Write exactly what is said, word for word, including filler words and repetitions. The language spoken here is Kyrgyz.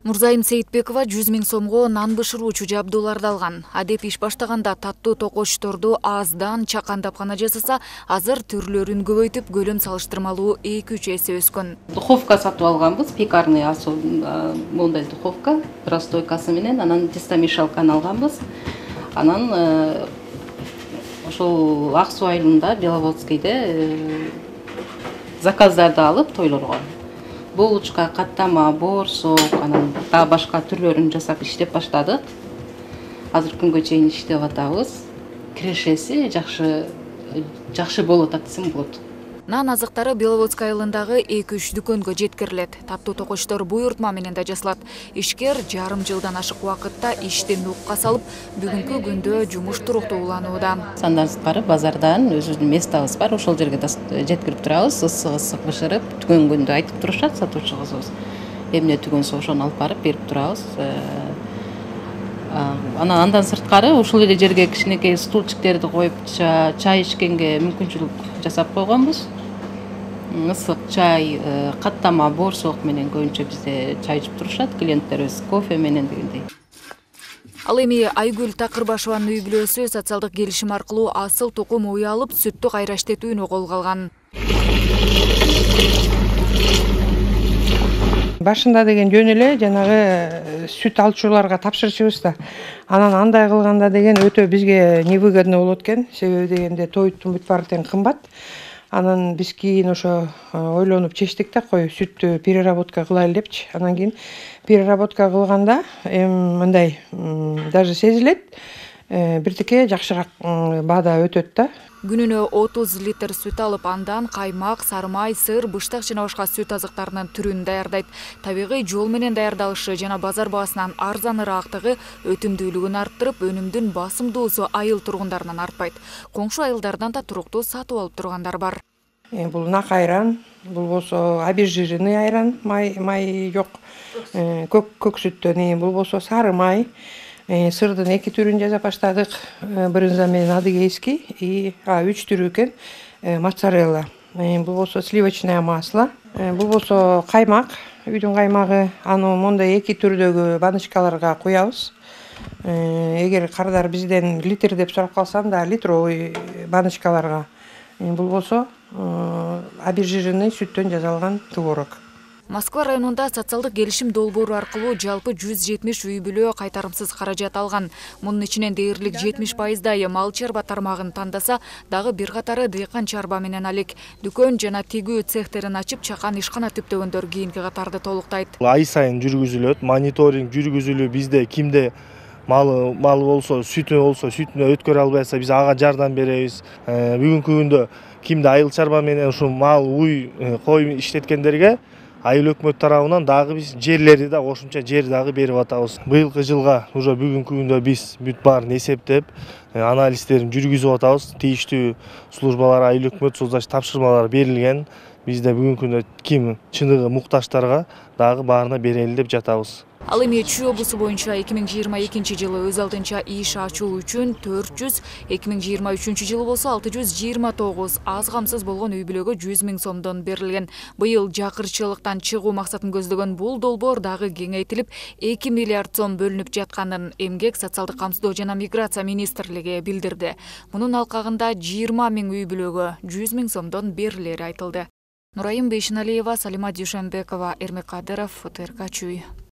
Мурзайым Сейитбекова жүз миң сомго нан бышыруучу жабдууларды алган. Адеп иш баштаганда таттуу токочторду аздан чакандап гана жасаса, азыр түрлөрүн көбөйтүп, көлөм салыштырмалуу эки үч эсе өскөн. Духовка сатып алганбыз, пекарный модель духовка, простойкасы менен, анан тестомешалканы алганбыз. Анан ошол ак суу айылында, Беловодскийде заказдарды алып тойлорго. Булочка, каттама, борсок, анан дагы башка түрлөрүн жасап иштеп баштадык. Азыр күнгө чейин иштеп атабыз. Кирешеси жакшы жакшы болот десем болот. Нан азыктары Беловодскый айылындагы эки үч дүкөнгө жеткирилет. Таттуу токочтор буйртма менен да жасалат. Ишкер жарым жылдан ашык убакытта иштен укка салып, бүгүнкү күндө жумуш туруктуу уланууда. Сандан сырткары базардан өзүбүздүн местабыз бар, ошол жерге жеткирип турабыз, ысык-ысык бышырып, түгөн күндө айтып турушат сатуучу кызыбыз. Эмне түгөнсө ошону алып барып берип турабыз. Анан андан сырткары ушул эле жерге кичинекей стульчиктерди коюп, чай ичкенге мүмкүнчүлүк жасап койгонбуз. Ысык чай, каттама, борсок менен көбүнчө бизде чай ичип турушат клиенттерибиз, кофе менен дегендей. Ал эми Айгүл Такырбашеванын үй бүлөсү социалдык келишим аркылуу асыл тукум уй алып, сүттү кайра иштетүүнү колго алган. Башында деген жөн эле жанагы сүт алчуларга тапшырчубуз да. Анан андай кылганда деген өтө бизге невыгодно болот экен. Себеби дегенде тоюттун бүт баары тең кымбат. Анан биз кийин ошо ойлонуп чечтик да, кой сүттү переработка кылайлы депчи. Анан кийин переработка кылганда эми мындай даже сезилет. Биртике жакшыраак баада өтөт да. Күнүнө отуз литр сүт алып, андан каймак, сары май, сыр, быштак жана башка сүт азыктарынын түрүн даярдайт. Табигый жол менен даярдалышы жана базар баасынан арзаныраактыгы өтүмдүүлүгүн арттырып, өнүмдүн басымдуусу айыл тургундарынан артпайт. Коңшу айылдардан да туруктуу сатып алып тургандар бар. Бул нак айран, бул болсо обезжиренный айран, май май жок, көк көк сүттөн, бул болсо сары май. Сырдын эки түрүн жасап баштадык. Брынза менен адыгейский и үч түрү экен. Моцарелла. Бул болсо сливочное масло. Бул болсо каймак, үйдүн каймагы. Аны мондай эки түрдөгү баночкаларга куябыз. Эгер кардар бизден литр деп сурап калса да, литровый баночкаларга. Бул болсо обезжиренный сүттөн жасалган творог. Москва районунда социалдык келишим долбоору аркылуу жалпы жүз жетимиш үй бүлө кайтарымсыз каражат алган. Мунун ичинен дээрлик жетимиш пайыздай мал чарба тармагын тандаса, дагы бир катары дыйкан чарба менен алек. Дүкөн жана тигүү цехтерин ачып, чакан ишкана түптөгөндөр кийинки катарды толуктайт. Ай сайын жүргүзүлөт, мониторинг жүргүзүлүп, бизде кимде малы малы болсо, сүтү болсо, сүтүнө өткөрө албай атса, биз ага жардам беребиз. Бүгүнкү күндө кимде айыл чарба менен ушу мал, уй, кой иштеткендерге айыл өкмөт тарабынан дагы биз жерлерди да кошумча жер дагы берип атабыз. Быйылкы жылга уже бүгүнкү күндө биз бүт баарын эсептеп, анализдерин жүргүзүп атабыз. Тийиштүү службалар, айыл өкмөт соцдаш тапшырмалар берилген. Бизде бүгүнкү күндө ким чыныгы муктаждарга дагы баарына берели деп жатабыз. Ал эми Чүй облусу боюнча эки миң жыйырма экинчи жылы өз алдынча иш ачуу үчүн төрт жүз, эки миң жыйырма үчүнчү жылы болсо алты жүз жыйырма тогуз аз камсыз болгон үй бүлөгө жүз миң сомдон берилген. Быйыл жакырчылыктан чыгуу максатын көздөгөн бул долбоор дагы кеңейтилип, эки миллиард сом бөлүнүп жатканын Эмгек, социалдык камсыздоо жана миграция министрлиги билдирди. Мунун алкагында жыйырма миң үй бүлөгө жүз миң сомдон берилери айтылды. Нурайым Бейшеналиева, Салима Дүйшөнбекова, Эрмек Кадыров, ФТРК Чүй.